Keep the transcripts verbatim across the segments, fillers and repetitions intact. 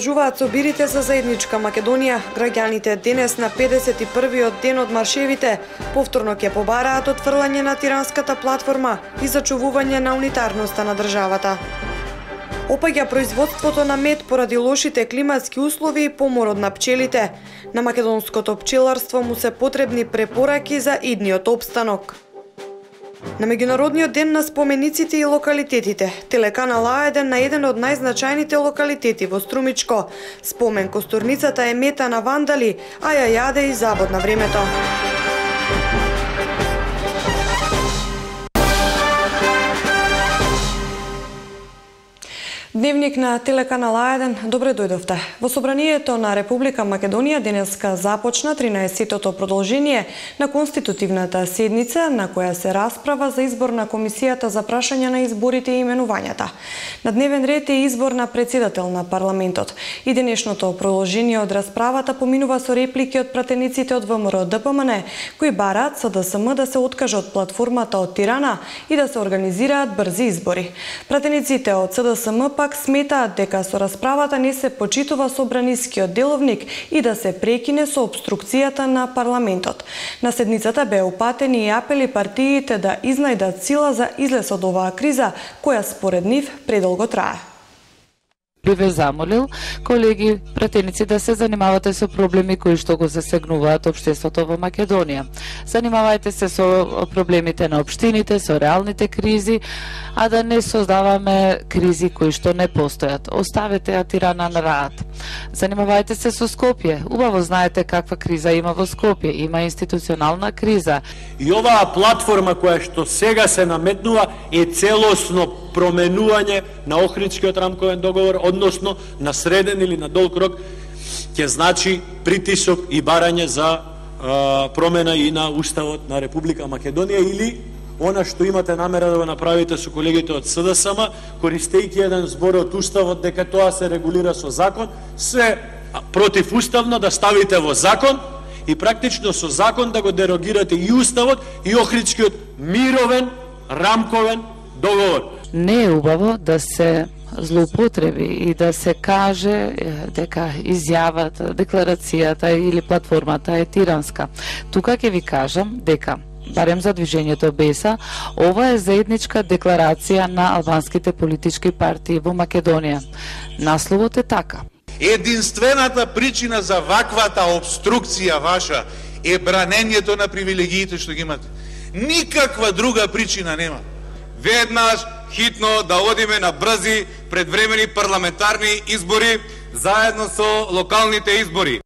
Продолжуваат собирите за заедничка Македонија. Граѓаните денес на педесет и првиот ден од маршевите повторно ќе побараат отфрлање на тиранската платформа и зачувување на унитарноста на државата. Опаѓа производството на мед поради лошите климатски услови и поморот на пчелите. На македонското пчеларство му се потребни препораки за идниот опстанок. На меѓународниот ден на спомениците и локалитетите, телеканал А еден на еден од најзначајните локалитети во Струмичко. Спомен костурницата е мета на вандали, а ја јаде и завод на времето. Дневник на телеканал А еден, добре дојдовте. Во собранието на Република Македонија денеска започна тринаесеттото продолжение на конститутивната седница на која се расправа за избор на комисијата за прашање на изборите и именувањата. На дневен ред е избор на председател на парламентот. И денешното продолжение од расправата поминува со реплики од пратениците од ВМРО Д П М Н, кои бараат С Д С М да се откаже од платформата од Тирана и да се организираат брзи избори. Пратениците од С Д С М пак сметаат дека со расправата не се почитува собранискиот деловник и да се прекине со обструкцијата на парламентот. На седницата беа упатени и апели партиите да изнајдат сила за излез од оваа криза, која според нив предолго трае. Би ве замолил, колеги пратеници, да се занимавате со проблеми кои што го засегнуваат општеството во Македонија. Занимавајте се со проблемите на општините, со реалните кризи, а да не создаваме кризи кои што не постојат. Оставете ја Тирана на раат. Занимавајте се со Скопје. Убаво знаете каква криза има во Скопје. Има институционална криза. И оваа платформа која што сега се наметнува е целосно променување на Охридскиот рамковен договор, односно на среден или на долг рок, ќе значи притисок и барање за а, промена и на Уставот на Република Македонија, или она што имате намера да го направите со колегите од С Д С М, користејќи еден збор од Уставот дека тоа се регулира со закон, се противуставно да ставите во закон и практично со закон да го дерогирате и Уставот и Охридскиот мировен рамковен договор. Не е убаво да се злоупотреби и да се каже дека изјавата, декларацијата или платформата е тиранска. Тука ќе ви кажам дека, барем за движењето Беса, ова е заедничка декларација на албанските политички партии во Македонија. Насловот е така. Единствената причина за ваквата обструкција ваша е бранењето на привилегиите што ги имате. Никаква друга причина нема. Веднаш хитно да одиме на брзи предвремени парламентарни избори заедно со локалните избори.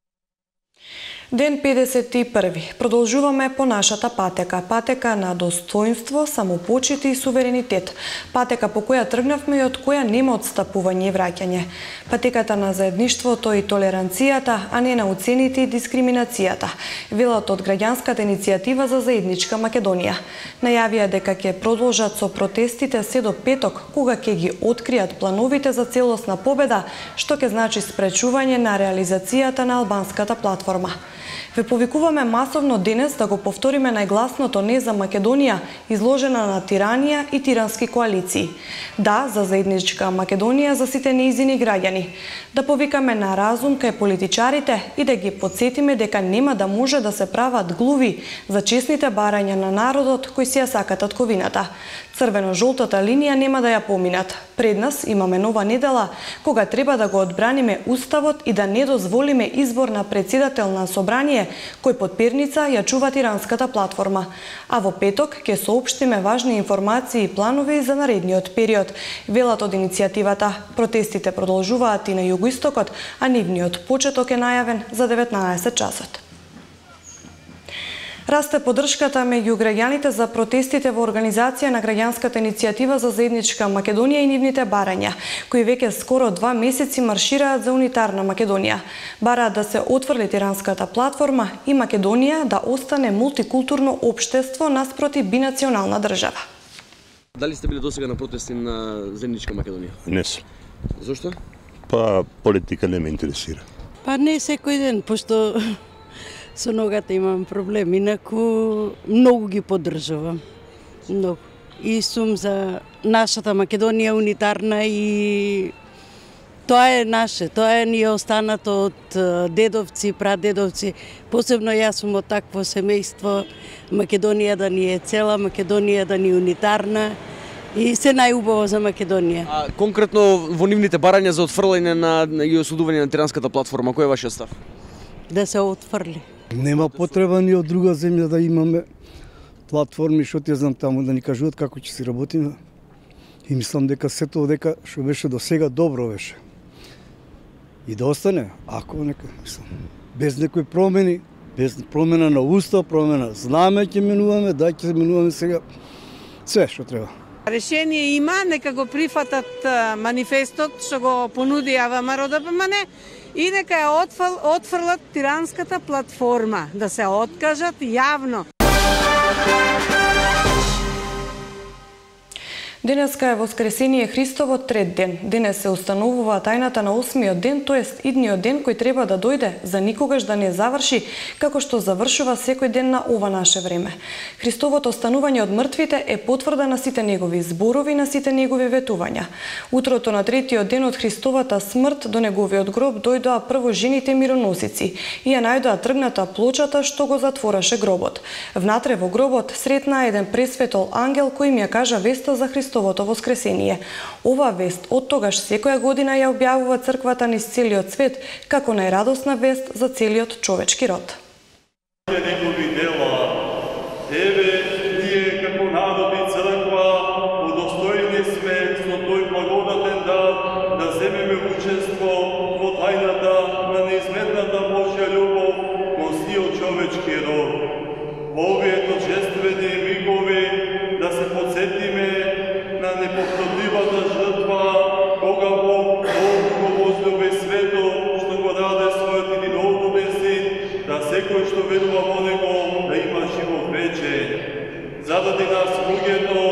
Ден педесет и први. Продолжуваме по нашата патека. Патека на достоинство, самопочит и суверенитет. Патека по која тргнавме и од која нема отстапување и враќање. Патеката на заедништвото и толеранцијата, а не на уцените и дискриминацијата. Велат од граѓанската иницијатива за заедничка Македонија. Најавија дека ќе продолжат со протестите се до петок, кога ќе ги откријат плановите за целосна победа, што ќе значи спречување на реализацијата на албанската платформа. Ве повикуваме масовно денес да го повториме најгласното не за Македонија, изложена на тиранија и тирански коалиции. Да, за заедничка Македонија за сите нејзини граѓани. Да повикаме на разум кај политичарите и да ги подсетиме дека нема да може да се прават глуви за честните барања на народот кои си ја сакат татковината. Црвено-жолтата линија нема да ја поминат. Пред нас имаме нова недела, кога треба да го одбраниме Уставот и да не дозволиме избор на председател на собрание, кој под перница ја чува тиранската платформа. А во петок ќе соопштиме важни информации и планови за наредниот период. Велат од иницијативата. Протестите продолжуваат и на југоистокот, а нивниот почеток е најавен за деветнаесет часот. Расте поддршката меѓу граѓаните за протестите во организација на граѓанската иницијатива за заедничка Македонија и нивните барања, кои веќе скоро два месеци маршираат за унитарна Македонија. Бараат да се отфрли тиранската платформа и Македонија да остане мултикултурно општество наспроти бинационална држава. Дали сте били досега на протести на заедничка Македонија? Не сум. Зошто? Па политика не ме интересира. Па не секој ден, пошто со ногата имам проблем, инаку многу ги поддржувам. Многу. И сум за нашата Македонија унитарна и Тоа е наше, тоа е ни е останато од дедовци, прадедовци. Посебно јас сум од такво семејство. Македонија да ни е цела, Македонија да ни е унитарна и се најубаво за Македонија. А конкретно во нивните барања за отфрлање на, на и осудување на Тиранската платформа, кој е вашиот став? Да се отфрли. Нема потреба ни од друга земја да имаме платформи, што ти знам таму да ни кажуваат како ќе си работиме. И мислам дека сето дека што беше до сега добро беше. И да остане, ако нека, мислам, без некои промени, без промена на устав, промена знаме ќе менуваме, да ќе менуваме сега све што треба. Решение има, нека го прифатат манифестот што го понуди ВМРО Д П М Н и нека ја отфл, отфрлат Тиранската платформа, да се откажат јавно. Денеска е Воскресение Христово трет ден. Денес се установува тајната на осмиот ден, тоест идниот ден кој треба да дојде за никогаш да не заврши, како што завршува секој ден на ова наше време. Христовото останување од мртвите е потврда на сите негови зборови, на сите негови ветувања. Утрото на третиот ден од Христовата смрт до неговиот гроб дојдоа прво жените мироносици и ја најдоа тргната плочата што го затвораше гробот. Внатре во гробот сретнаа еден пресветол ангел кој им ја кажа веста за Христовото Христовото воскресение. Ова вест од тогаш секоја година ја објавува црквата низ целиот свет како најрадосна вест за целиот човечки род. Негови дела, еве ние како народ и црква удостоени сме со тој благодатен дар да земеме учество во тајната на неизмената Божја љубов кон сиот човечки род. Во овие торжествени мигови да се подсетиме на неповторливата жртва, кога Бог Бог го возлюби свето, што го даде својот единороден син, да секој што верува во него да има живот вечен. Заради нас луѓето,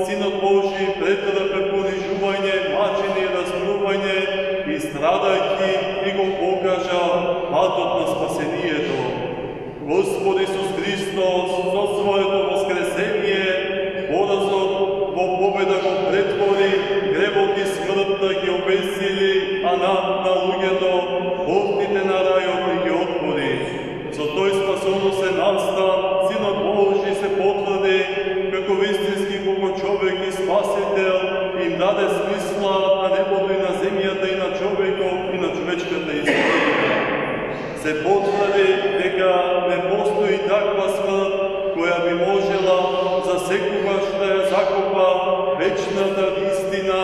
Синот Божи претрпе понижување, мачење, распнување и страдајќи и го покажа патот на спасението. Господ Исус Христос со своето воскресение поразот во победа го претвори, гревот и смртта ги обесили, а над на луѓето портите на рајот ги отвори. Со тој спасоносен настан, Синот Божи се потврди како вистински Богочовек и Спасител, им даде смисла на небото и на земјата и на човеков и на човечката историја. Се потврди дека не постои таква смрт која би можела за секогаш да ја закопа вечната истина,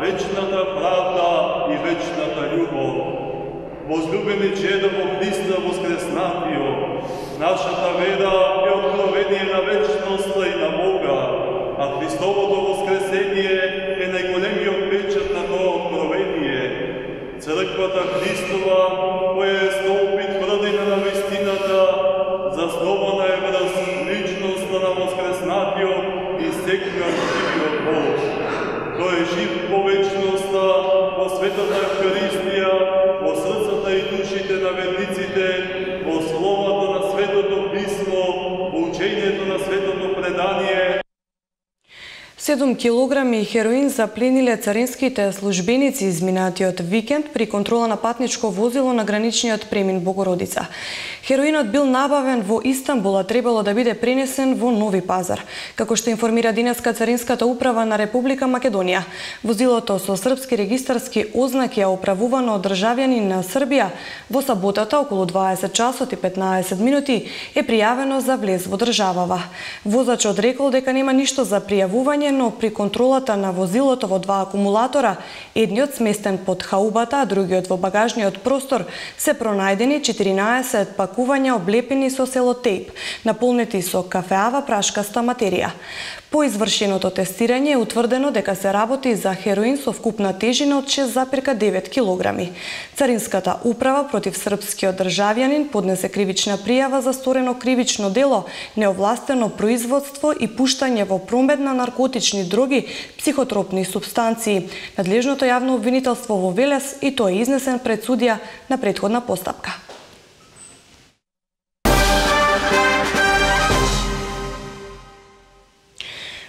вечната правда и вечната љубов. Возлюбени чеда во Христа воскреснатио, нашата вера е откровение на вечноста и на Бога, а Христовото воскресение е најголемиот печат на тоа откровение. Црквата Христова, која е столб тврдина на вистината, заснована е врз личноста на воскреснатиот и секогаш живиот Бог. Тој е жив по вечноста, во светата Евхаристија, во срцата и душите на верниците, во словото на Светото Писмо, во учењето на Светото предание. седум килограми хероин заплениле царинските службеници изминатиот викенд при контрола на патничко возило на граничниот премин Богородица. Хероинот бил набавен во Истанбул, а требало да биде пренесен во Нови Пазар. Како што информира денеска Царинската управа на Република Македонија, возилото со српски регистарски ознаки е управувано од државјанин на Србија во саботата околу дваесет часот и петнаесет минути е пријавено за влез во државава. Возачот рекол дека нема ништо за пријавување, но при контролата на возилото во два акумулатора, едниот сместен под хаубата, а другиот во багажниот простор, се пронајдени четиринаесет пакувања облепени со селотейп, наполнети со кафеава прашкаста материја. По извршеното тестирање е утврдено дека се работи за хероин со вкупна тежина од шест зарез девет килограми. Царинската управа против српскиот државјанин поднесе кривична пријава за сторено кривично дело, неовластено производство и пуштање во промет на наркотични дроги, психотропни супстанции. Надлежното јавно обвинителство во Велес и тој е изнесен пред судија на претходна постапка.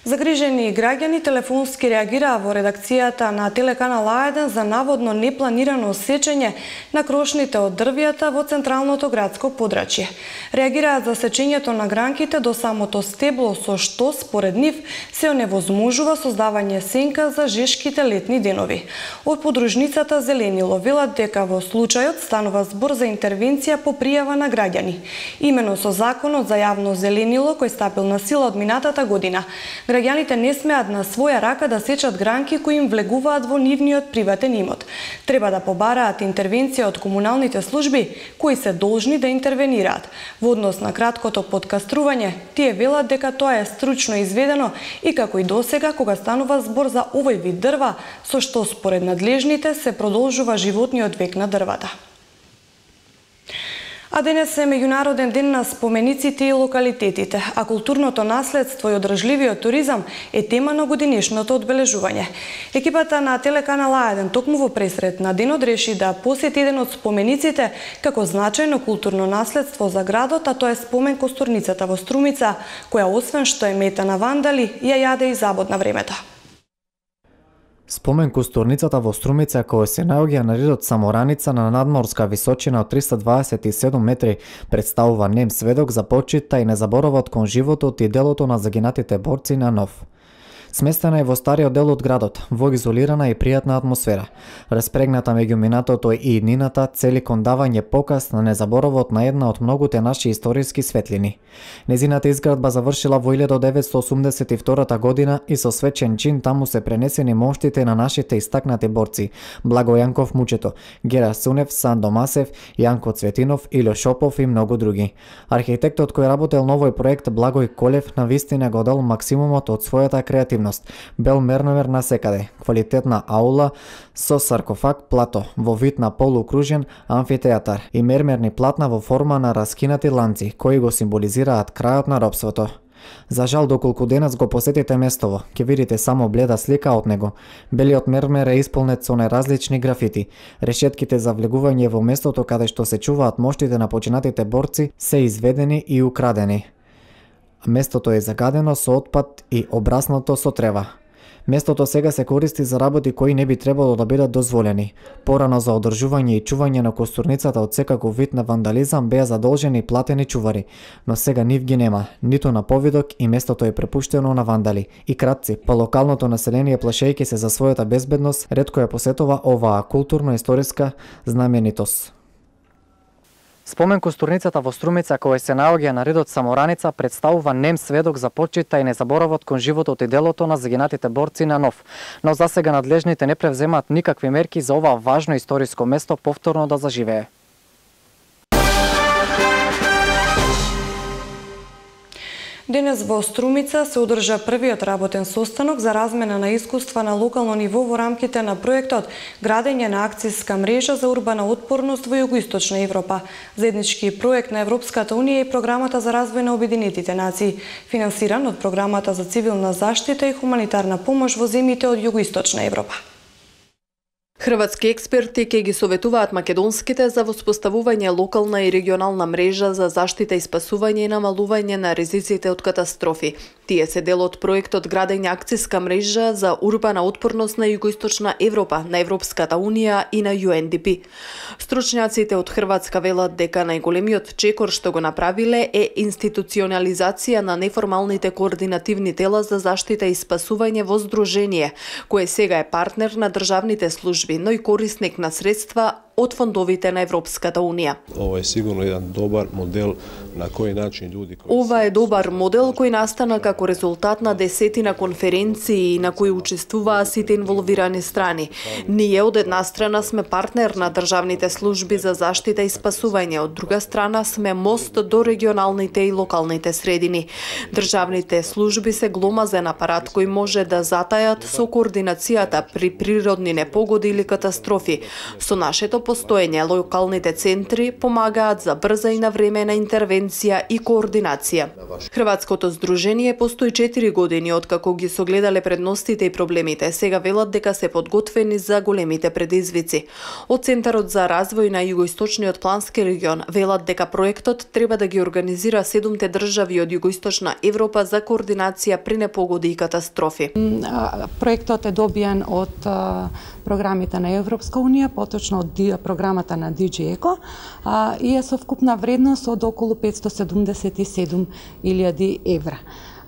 Загрижен Набрижени граѓани телефонски реагираа во редакцијата на телеканал А еден за наводно непланирано сечење на крошните од дрвјата во централното градско подрачје. Реагираат за сечењето на гранките до самото стебло, со што според нив се оневозможува создавање сенка за жешките летни денови. Од подружницата Зеленило велат дека во случајот станува збор за интервенција по пријава на граѓани. Имено со законот за јавно зеленило кој стапил на сила од минатата година, граѓаните не смеат на своја рака да сечат гранки кои им влегуваат во нивниот приватен имот. Треба да побараат интервенција од комуналните служби кои се должни да интервенираат. Во однос на краткото подкастрување, тие велат дека тоа е стручно изведено и како и досега кога станува збор за овој вид дрва, со што според надлежните се продолжува животниот век на дрвата. А денес е меѓународен ден на спомениците и локалитетите, а културното наследство и одржливиот туризам е тема на годинешното одбележување. Екипата на телеканал А еден токму во пресрет на денот реши да посети еден од спомениците како значајно културно наследство за градот, а тоа е спомен костурницата во Струмица, која освен што е мета на вандали, ја јаде и забод на времето. Спомен костурницата во Струмица, која се наоѓа на редот Самораница на надморска височина од триста дваесет и седум метри, представува нем сведок за почита и незаборавот кон животот и делото на загинатите борци на Нов. Сместена е во стариот дел од градот, во изолирана и пријатна атмосфера. Распрегната меѓу минатото и иднината, цели кон давање показ на незаборавот на една од многуте наши историски светлини. Незината изградба завршила во илјада деветстотини осумдесет и втора година и со свечен чин таму се пренесени моштите на нашите истакнати борци: Благо Јанков Мучето, Гера Сунев, Сандо Масев, Јанко Цветинов, Ило Шопов и многу други. Архитектот кој работел на овој проект, Благој Колев, навистина го дал максимумот од својата креативност. Бел мерновер на секаде, квалитетна аула со саркофаг плато во вид на полукружен амфитеатар и мермерни платна во форма на раскинати ланци кои го символизираат крајот на робството. За жал, доколку денес го посетите местово, ќе видите само бледа слика од него. Белиот мермер е исполнет со најразлични графити. Решетките за влегување во местото каде што се чуваат моштите на починатите борци се изведени и украдени. Местото е загадено со отпад и обраснато со трева. Местото сега се користи за работи кои не би требало да бидат дозволени. Порано за одржување и чување на костурницата од секаков вид на вандализам беа задолжени платени чувари, но сега нив ги нема, ниту на повидок и местото е препуштено на вандали и кратци, по локалното население плашејќи се за својата безбедност, ретко ја посетува оваа културно-историска знаменитост. Спомен костурницата во Струмица, која се наоѓа на редот Самораница, представува нем сведок за почита и незаборавот кон животот и делото на загинатите борци на Нов. Но засега надлежните не превземаат никакви мерки за ова важно историско место повторно да заживее. Денес во Струмица се одржа првиот работен состанок за размена на искуства на локално ниво во рамките на проектот Градење на акциска мрежа за урбана отпорност во Југоисточна Европа, заеднички проект на Европската унија и Програмата за развој на Обединетите нации, финансиран од Програмата за цивилна заштита и хуманитарна помош во земјите од Југоисточна Европа. Хрватски експерти ќе ги советуваат македонските за воспоставување локална и регионална мрежа за заштита и спасување и намалување на ризиците од катастрофи. Тие се дел од проектот Градење акциска мрежа за урбана отпорност на Југоисточна Европа, на Европската унија и на Ю Ен Ди Пи. Стручњаците од Хрватска велат дека најголемиот чекор што го направиле е институционализација на неформалните координативни тела за заштита и спасување во здружение, кое сега е партнер на државните служби, но и корисник на средства од фондовите на Европската унија. Ова е сигурно еден добар модел на кој начин луѓе кои Ова е добар модел кој настана како резултат на десетина конференции на кои учествуваа сите инволвирани страни. Ние од една страна сме партнер на државните служби за заштита и спасување, од друга страна сме мост до регионалните и локалните средини. Државните служби се гломазен апарат кој може да затајат со координацијата при природни непогоди или катастрофи. Со нашето постоење локалните центри помагаат за брза и навремена интервенција и координација. Хрватското здружение постои четири години откако ги согледале предностите и проблемите. Сега велат дека се подготвени за големите предизвици. Од Центарот за развој на југоисточниот плански регион велат дека проектот треба да ги организира седумте држави од југоисточна Европа за координација при непогоди и катастрофи. Проектот е добиен од програмите на Европска унија, поточно од програмата на Ди Џи Еко и е со вкупна вредност од околу петстотини седумдесет и седум илјади евра.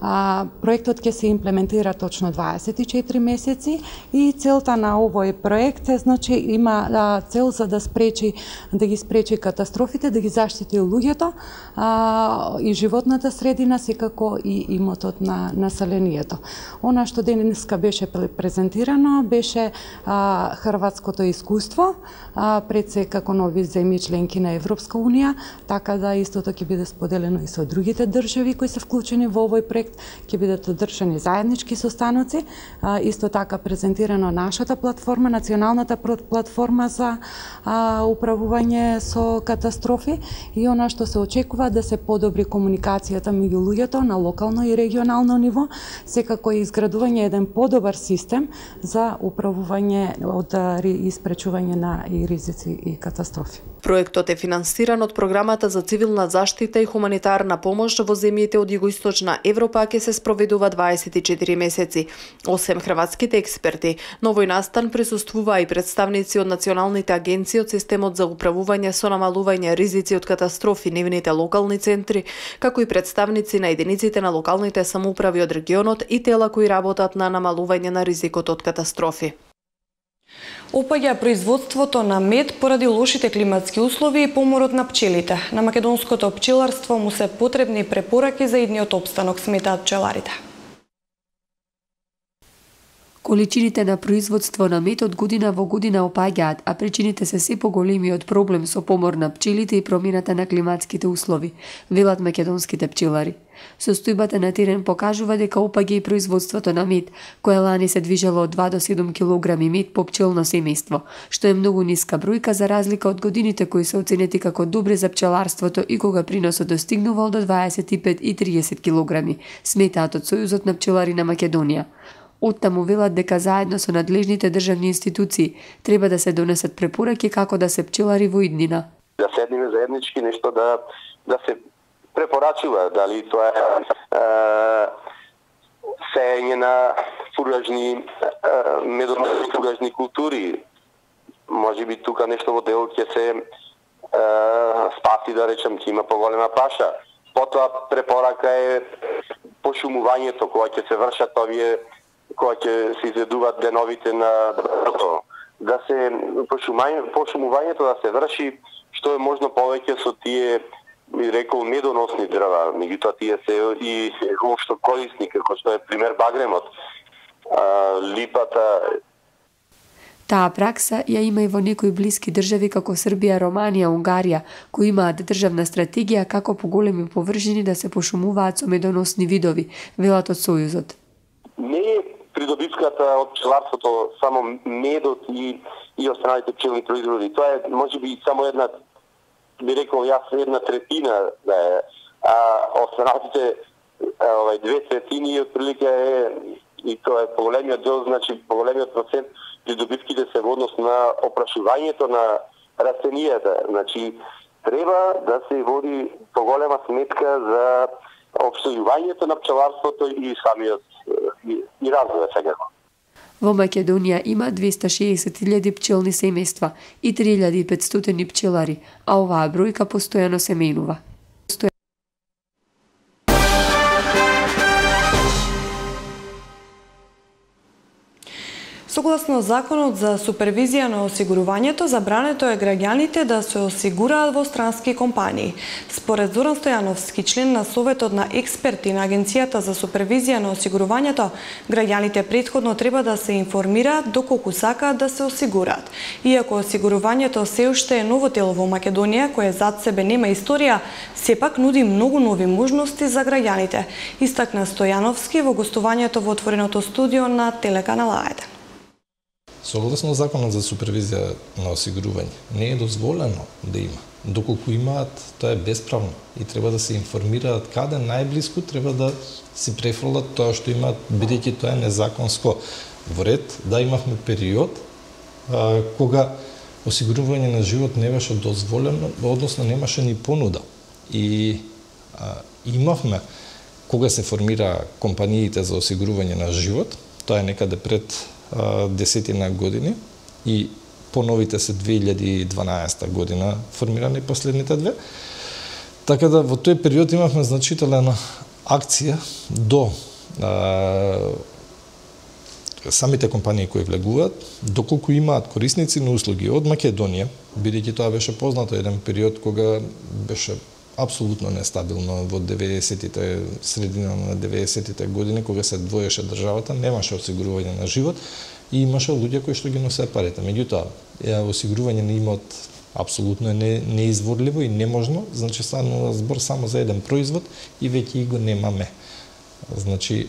А, проектот ќе се имплементира точно дваесет и четири месеци и целта на овој проект е, значи, има а, цел за да спречи да ги спречи катастрофите, да ги заштити луѓето а, и животната средина, секако и имотот на населението. Она што денеска беше презентирано беше а, хрватското искуство а, пред се како нови земји членки на Европска унија, така да истото ќе биде споделено и со другите држави кои се вклучени во овој проект. Ќе бидат одржани заеднички состаноци, исто така презентирано нашата платформа, националната платформа за управување со катастрофи и она што се очекува да се подобри комуникацијата меѓу луѓето на локално и регионално ниво, секако и изградување еден подобар систем за управување од и спречување на и ризици и катастрофи. Проектот е финансиран од програмата за цивилна заштита и хуманитарна помош во земјите од југоисточна Европа, ќе се спроведува дваесет и четири месеци. Осем хрватските експерти, на овој настан присуствуваа и представници од националните агенции од системот за управување со намалување ризици од катастрофи, нивните локални центри, како и представници на единиците на локалните самоуправи од регионот и тела кои работат на намалување на ризикот од катастрофи. Опаѓа производството на мед поради лошите климатски услови и поморот на пчелите. На македонското пчеларство му се потребни препораки за идниот опстанок, сметаат пчеларите. Количините на производство на мед од година во година опаѓаат, а причините се се поголемиот проблем со помор на пчелите и промената на климатските услови, велат македонските пчелари. Состојбата на терен покажува дека опаѓа и производството на мед, која лани се движело од два до седум килограми мед по пчелно семејство, што е многу ниска бројка за разлика од годините кои се оценети како добри за пчеларството и кога приносот достигнувал до дваесет и пет и триесет килограми, сметаат од Сојузот на пчелари на Македонија. Оттаму велат дека заедно со надлежните државни институции треба да се донесат препораки како да се пчелари во иднина. Да седниме заеднички нешто да да се препорачува, дали тоа е, е сеење на фуражни медоносни фуражни култури. Може би тука нешто во дел ќе се е, спаси, да речем, ќе има поголема паша. Потоа препорака е пошумувањето, кога ќе се вршат овие, кога ќе се изведуваат деновите на дрвото, да се пошумувањето, пошумувањето да се врши што е можно повеќе со тие, би рекол, медоносни дрва, меѓутоа тие се и општо корисни, како што е пример багремот, а, липата. Таа пракса ја има и во некои блиски држави како Србија, Романија, Унгарија, кои имаат државна стратегија како поголеми површини да се пошумуваат со медоносни видови, велат од Сојузот. Не е придобивката од пчеларството само медот и и останалите пчелни производи. Тоа е можеби само една, би рекол јас, една третина да е, а останалите овај две третини отприлика е и тоа е поголемиот дел, значи поголемиот процент придобивките се во однос на опрашувањето на растенијата. Значи треба да се води поголема сметка за опстојувањето на пчеларството и самиот и, и развојот секако. Во Македонија има двеста шеесет илјади пчелни семејства и три илјади и петстотини пчелари, а оваа бројка постојано се менува. Согласно Законот за супервизија на осигурувањето, забрането е граѓаните да се осигураат во странски компании. Според Зоран Стојановски, член на Советот на експерти на Агенцијата за супервизија на осигурувањето, граѓаните претходно треба да се информираат доколку сакаат да се осигураат. Иако осигурувањето се уште е ново тело во Македонија, кое зад себе нема историја, сепак нуди многу нови можности за граѓаните, истакна Стојановски во гостувањето во отвореното студио на телеканал А еден. Согласно законот за супервизија на осигурување, не е дозволено да има. Доколку имаат, тоа е бесправно и треба да се информираат каде најблиску треба да си префрлат тоа што имаат, бидејќи тоа е незаконско. Во ред, да, имавме период а, кога осигурување на живот не беше дозволено, односно немаше ни понуда. И а, имавме, кога се формира компаниите за осигурување на живот, тоа е некаде пред а, десетина години и поновите се две илјади и дванаесета година формирани последните две. Така да во тој период имавме значителна акција до а, самите компании кои влегуваат, доколку имаат корисници на услуги од Македонија, бидејќи тоа беше познато еден период кога беше апсолутно нестабилно во деветдесетите, средина на деветдесетите години, кога се двоеше државата, немаше осигурување на живот и имаше луѓе кои што ги носеа парите. Меѓутоа, осигурување на имот апсолутно е не, неизворливо и неможно, значи станува збор само за еден производ и веќе и го немаме. Значи,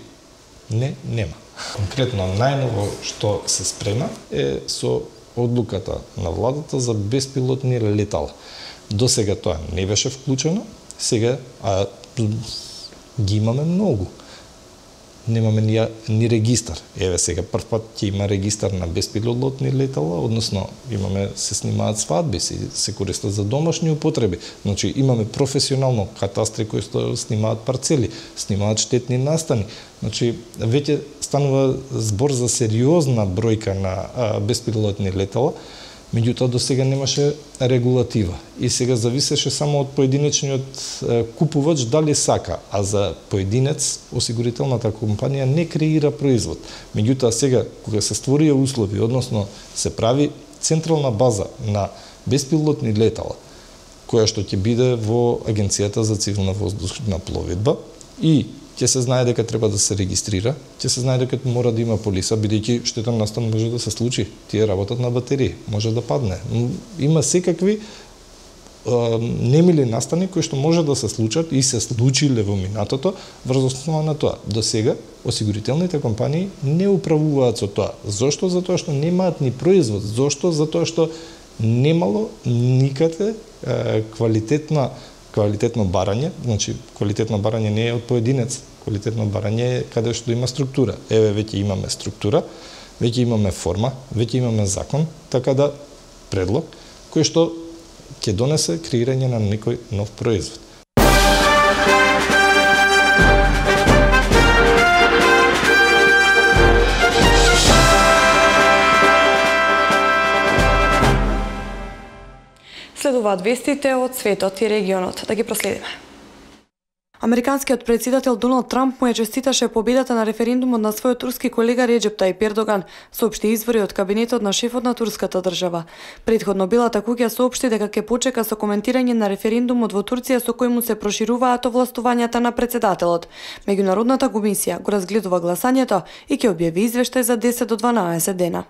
не, нема. Конкретно, најново што се спрема е со одлуката на владата за беспилотни летала. До сега тоа не беше вклучено, сега а, ги имаме многу. Немаме ни, ни регистар. Еве сега прв пат ќе има регистар на беспилотни летала, односно имаме се снимаат свадби, се, се користат за домашни употреби. Значи имаме професионално катастри кои што снимаат парцели, снимаат штетни настани. Значи веќе станува збор за сериозна бројка на а, беспилотни летала. Меѓутоа до сега немаше регулатива и сега зависеше само од поединечниот купувач дали сака, а за поединец осигурителната компанија не креира производ. Меѓутоа сега кога се створија услови, односно се прави централна база на беспилотни летала, која што ќе биде во Агенцијата за цивилна воздушна пловидба и ќе се знае дека треба да се регистрира, ќе се знае дека мора да има полиса, бидејќи штетен настан може да се случи. Тие работат на батерии, може да падне. Има секакви а, немили настани кои што може да се случат и се случиле во минатото врз основа на тоа. До сега осигурителните компании не управуваат со тоа. Зошто? Затоа што немаат ни производ. Зошто? Затоа што немало никаде а, квалитетна квалитетно барање, значи квалитетно барање не е од поединец, квалитетно барање е каде што има структура. Еве веќе имаме структура, веќе имаме форма, веќе имаме закон, така да предлог кој што ќе донесе креирање на некој нов производ. Следуваат вестите од светот и регионот. Да ги проследиме. Американскиот претседател Доналд Трамп му ја честиташе победата на референдумот на својот турски колега Реџеп Тајип Ердоган, соопшти извори од кабинетот на шефот на турската држава. Предходно Белата куќа соопшти дека ќе почека со коментирање на референдумот во Турција со кој му се прошируваат овластувањата на претседателот. Меѓународната комисија го разгледува гласањето и ќе објави извештај за десет до дванаесет дена.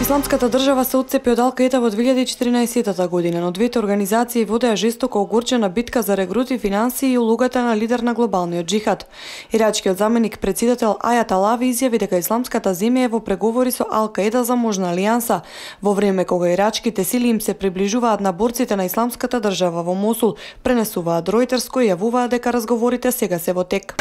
Исламската држава се отцепи од Ал-Каида во две илјади и четиринаесета година, но двете организации водеа жестоко огорчена битка за регрути, финансии и улогата на лидер на глобалниот џихад. Ирачкиот заменик претседател Ајат Алави изјави дека исламската земја е во преговори со Ал-Каида за можна алијанса, во време кога ирачките сили им се приближуваат на борците на исламската држава во Мосул, пренесуваат Ројтерс кој јавуваат дека разговорите сега се во тек.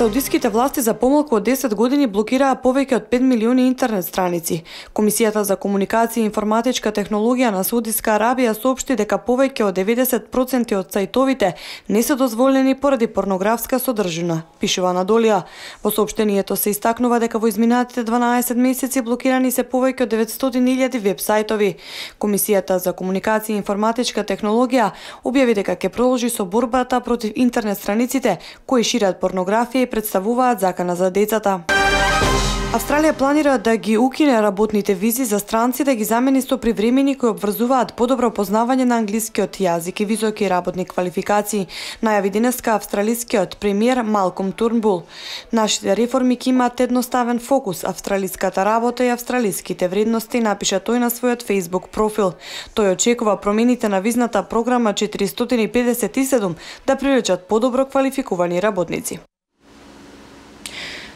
Саудиските власти за помалку од десет години блокираа повеќе од пет милиони интернет страници. Комисијата за комуникација и информатичка технологија на Саудиска Арабија соопшти дека повеќе од деветдесет проценти од сајтовите не се дозволени поради порнографска содржина, пишува Надолија. Во соопштението се истакнува дека во изминатите дванаесет месеци блокирани се повеќе од деветстотини илјади веб сајтови. Комисијата за комуникација и информатичка технологија објави дека ќе продолжи со борбата против интернет страниците кои шират порнографија и представуваат закана за децата. Австралија планира да ги укине работните визи за странци да ги замени со привремени кои обврзуваат подобро познавање на англискиот јазик и високи работни квалификации, најави денеска австралискиот премиер Малком Турнбул. Нашите реформи ќе имаат едноставен фокус, австралиската работа и австралиските вредности, напиша тој на својот Facebook профил. Тој очекува промените на визната програма четиристотини педесет и седум да привлечат подобро квалификувани работници.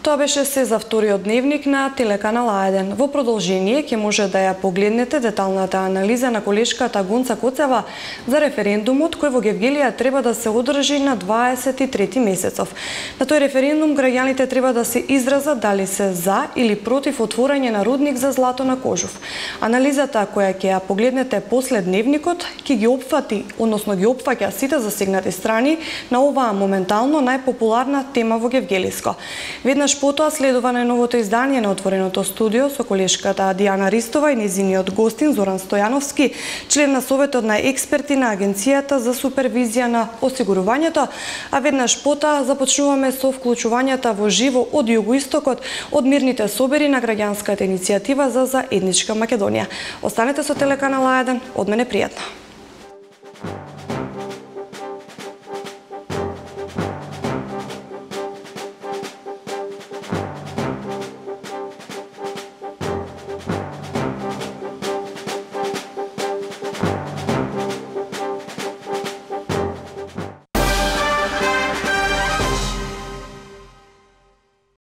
Тоа беше се за вториот дневник на телеканал А еден. Во продолжение ќе може да ја погледнете деталната анализа на колешката Гонца Коцева за референдумот кој во Гевгелија треба да се одржи на дваесет и трети месецов. На тој референдум граѓаните треба да се изразат дали се за или против отворање на рудник за злато на Кожув. Анализата која ќе ја погледнете после дневникот ќе ги опфати, односно ги опфаќа сите засегнати страни на оваа моментално најпопуларна тема во Гевгелиско. Веднаш потоа следува најновото издание на Отвореното студио со колешката Дијана Ристова и незиниот гостин Зоран Стојановски, член на Советот на експерти на Агенцијата за супервизија на осигурувањето, а веднаш потоа започнуваме со вклучувањата во живо од југоистокот од мирните собери на граѓанската иницијатива за заедничка Македонија. Останете со телеканал А еден, од мене пријатно.